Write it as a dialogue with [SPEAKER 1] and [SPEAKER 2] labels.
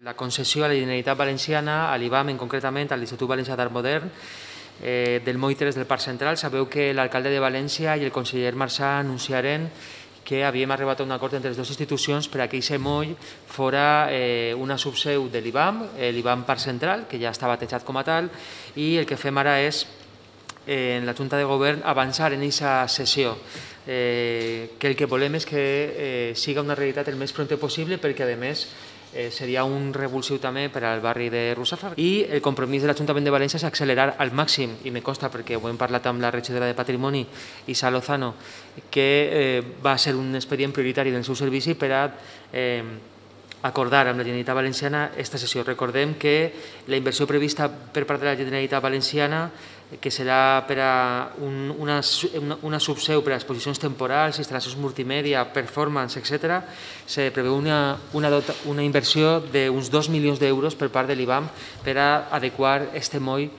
[SPEAKER 1] La concessió a la Generalitat Valenciana, a l'IBAM, concretament a l'Institut Valencià d'Art Modern, del moll 3 del Parc Central. Sabeu que l'alcalde de València i el conseller Marsà anunciaren que havíem arribat a un acord entre les dues institucions per a que aquest moll fora una subseu de l'IBAM, l'IBAM Parc Central, que ja està batejat com a tal, i el que fem ara és, en la Junta de Govern, avançar en aquesta sessió, que el que volem és que siga una realitat el més prompte possible, perquè, a més, seria un revulsiu també per al barri de Russafa. I el compromís de l'Ajuntament de València és accelerar al màxim, i me consta perquè ho hem parlat amb la regidora de Patrimoni, Isa Lozano, que va ser un expedient prioritari del seu servici per a acordar amb la Generalitat Valenciana aquesta sessió. Recordem que la inversió prevista per part de la Generalitat Valenciana, que serà per a una subseu per a exposicions temporals, instal·lacions multimèdia, performance, etc., se preveu una inversió d'uns 2 milions d'euros per part de l'IBAM per a adequar aquest moll